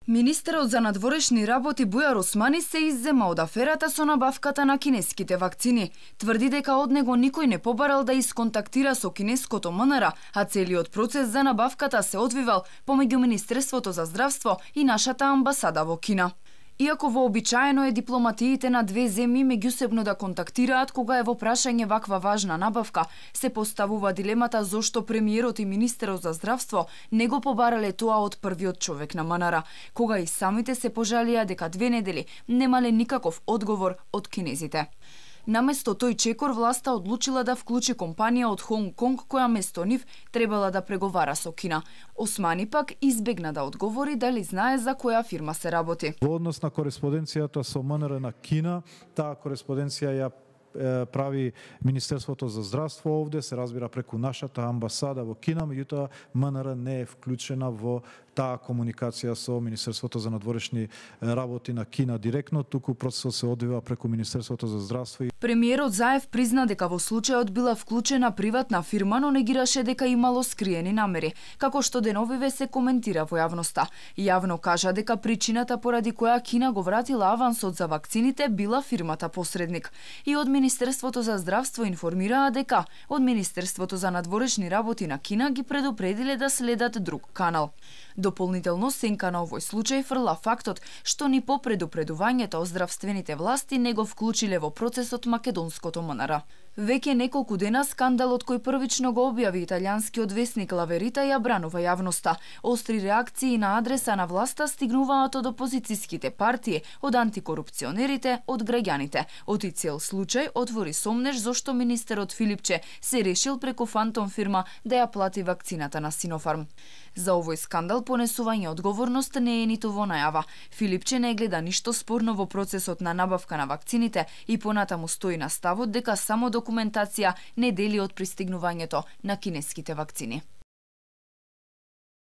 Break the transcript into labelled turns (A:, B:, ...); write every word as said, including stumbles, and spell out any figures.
A: Министерот за надворешни работи Бујар Османи се иззема од аферата со набавката на кинеските вакцини. Тврди дека од него никој не побарал да исконтактира со кинеското ем ен ер, а целиот процес за набавката се одвивал помеѓу Министерството за здравство и нашата амбасада во Кина. Иако вообичаено е дипломатиите на две земји меѓусебно да контактираат кога е во прашање ваква важна набавка, се поставува дилемата зошто премиерот и министерот за здравство не го побарале тоа од првиот човек на ем ен ер, кога и самите се пожалија дека две недели немале никаков одговор од кинезите. Наместо тој чекор, власта одлучила да вклучи компанија од Хонг Конг која место нив требала да преговара со Кина. Османи пак избегна да одговори дали знае за која фирма се работи.
B: Во однос на кореспонденцијата со ем ен ер на Кина, таа кореспонденција ја прави Министерството за здравство овде, се разбира преку нашата амбасада во Кина, меѓутоа ем ен ер не е вклучена во таа комуникација со Министерството за надворешни работи на Кина директно, туку процесот се одвива преку Министерството за здравство.
A: Премиерот Заев призна дека во случајот била вклучена приватна фирма, но негираше дека имало скриени намери, како што деновиве се коментира во јавноста. Јавно кажа дека причината поради која Кина го вратила авансот за вакцините била фирмата посредник. И од Министерството за здравство информираа дека од Министерството за надворешни работи на Кина ги предупредиле да следат друг канал. Дополнително сенка на овој случај фрла фактот што ни по предупредувањето од здравствените власти не го вклучиле во процесот македонското ем ен ер. Веќе неколку дена скандалот кој првично го објави италијанскиот весник Ла Верита ја бранува јавноста. Остри реакции на адреса на власта стигнуваат од опозицијските партии, од антикорупционерите, од граѓаните. Оти цел случај отвори сомнеж зошто министерот Филипче се решил преку фантом фирма да ја плати вакцината на Синофарм. За овој скандал понесување одговорност не е ниту во најава. Филипче не гледа ништо спорно во процесот на набавка на вакцините и понатаму стои на ставот дека само документација не дели од пристигнувањето на кинеските вакцини.